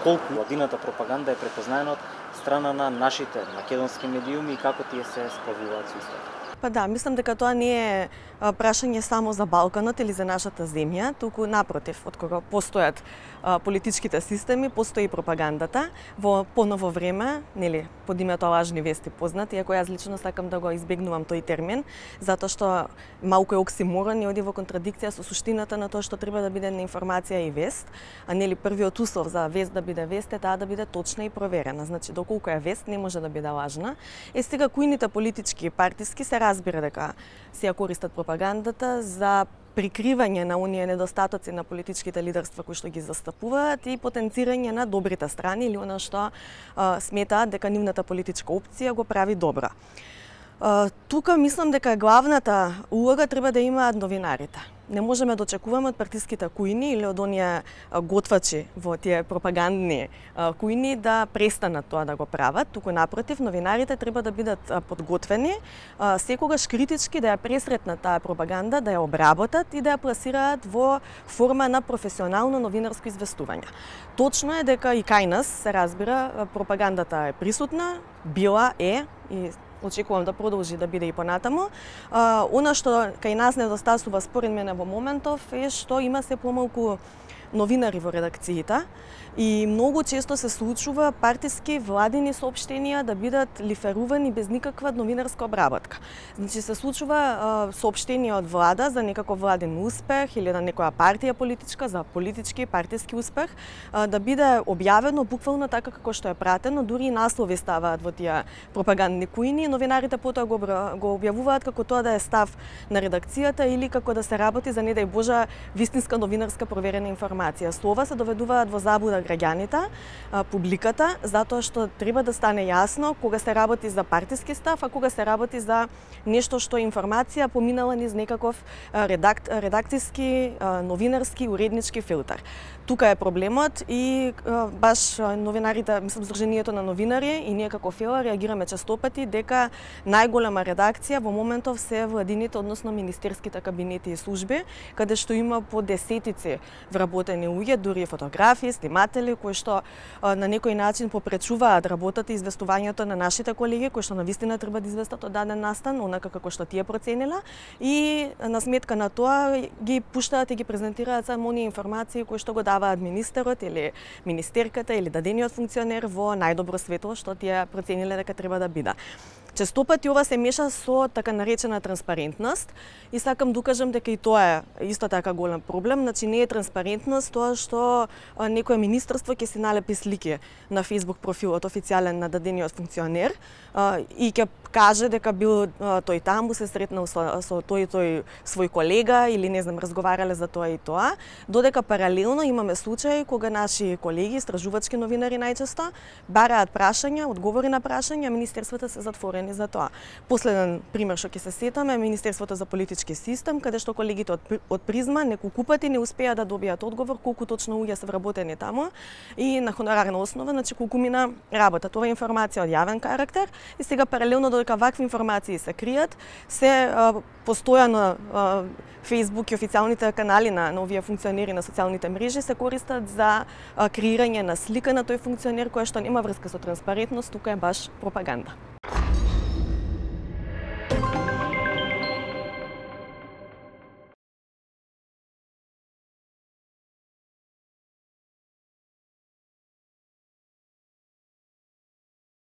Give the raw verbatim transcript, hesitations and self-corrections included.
колку владината пропаганда е препознаена од страна на нашите македонски медиуми и како тие се справуваат со истото? Па да, мислам дека тоа не е прашање само за Балканот или за нашата земја, туку напротив, од кога постојат а, политичките системи, постои и пропагандата. Во поново време, нели, под името лажни вести познат, иако јас лично сакам да го избегнувам тој термин, затоа што малку е оксиморон и оди во контрадикција со суштината на тоа што треба да биде информација и вест, а нели првиот услов за вест да биде вест е таа да биде точна и проверена. Значи, доколку е вест, не може да биде лажна. Е сега којните политички и партиски се разбира дека се ја користат пропагандата за прикривање на оние недостатоци на политичките лидерства кои што ги застапуваат и потенцирање на добрите страни или она што а, сметаат дека нивната политичка опција го прави добра. А, тука мислам дека главната улога треба да имаат новинарите. Не можеме да очекуваме од партиските кујни или од оние готвачи во тие пропагандни кујни да престанат тоа да го прават, туку напротив, новинарите треба да бидат подготвени, секогаш критички да ја пресретнат таа пропаганда, да ја обработат и да ја пласираат во форма на професионално новинарско известување. Точно е дека и кај нас, се разбира, пропагандата е присутна, била е и очекувам да продолжи да биде и понатаму. А, она што кај нас недостасува според мене во моментов е што има се помалку новинари во редакциите и многу често се случува партиски владини соопштенија да бидат лиферувани без никаква новинарска обработка. Значи се случува а, соопштение од влада за некаков владин успех или на некоја партија политичка за политички и партиски успех а, да биде објавено буквално така како што е пратено, дури и наслови ставаат во тие пропагандни кујни, новинарите потоа го, го објавуваат како тоа да е став на редакцијата или како да се работи за, не дај Боже, вистинска новинарска проверена информација. Слова се доведуваат во заблуда граѓаните, публиката, затоа што треба да стане јасно кога се работи за партиски став, а кога се работи за нешто што е информација поминала низ некаков редак, редакцијски, новинарски, уреднички филтер. Тука е проблемот и баш новинарите, мислам, Сдруженијето на новинари и ние како ФЕЛА реагираме честопати дека најголема редакција во моментов се владините, односно министерските кабинети и служби, каде што има по десетици вработени луѓе, дури фотографи, сниматели, кои што на некој начин попречуваат работата и известувањето на нашите колеги, кои што навистина треба да известат од даден настан, онака како што тие проценила, и на сметка на тоа ги пуштаат и ги презентираат само оние информации кои што го даваат министерот или министерката или дадениот функционер во најдобро светло што тие процениле дека треба да биде. Честопати ова се меша со така наречена транспарентност и сакам да укажам дека и тоа е исто така голем проблем. Значи не е транспарентност тоа што некое министерство ќе се налепи слики на Facebook профилот официјален на дадениот функционер и ќе каже дека бил тој таму, се сретнал со, со тој тој свој колега или не знам разговарале за тоа и тоа, додека паралелно имаме случаи кога наши колеги, истражувачки новинари најчесто бараат прашања, одговори на прашања, министерствата се затворени за тоа. Последен пример што ќе се сетаме е Министерството за политички систем, каде што колегите од, од Призма неколку пати не успеа да добијат одговор колку точно луѓе се вработени таму и на хонорарна основа, значи колку мина работа. Тоа е информација од јавен карактер и сега паралелно додека вакви информации се кријат, се а, постојано а, Facebook и официјалните канали на, на овие функционери на социјалните мрежи се користат за а, креирање на слика на тој функционер која што нема врска со транспарентност, тука е баш пропаганда.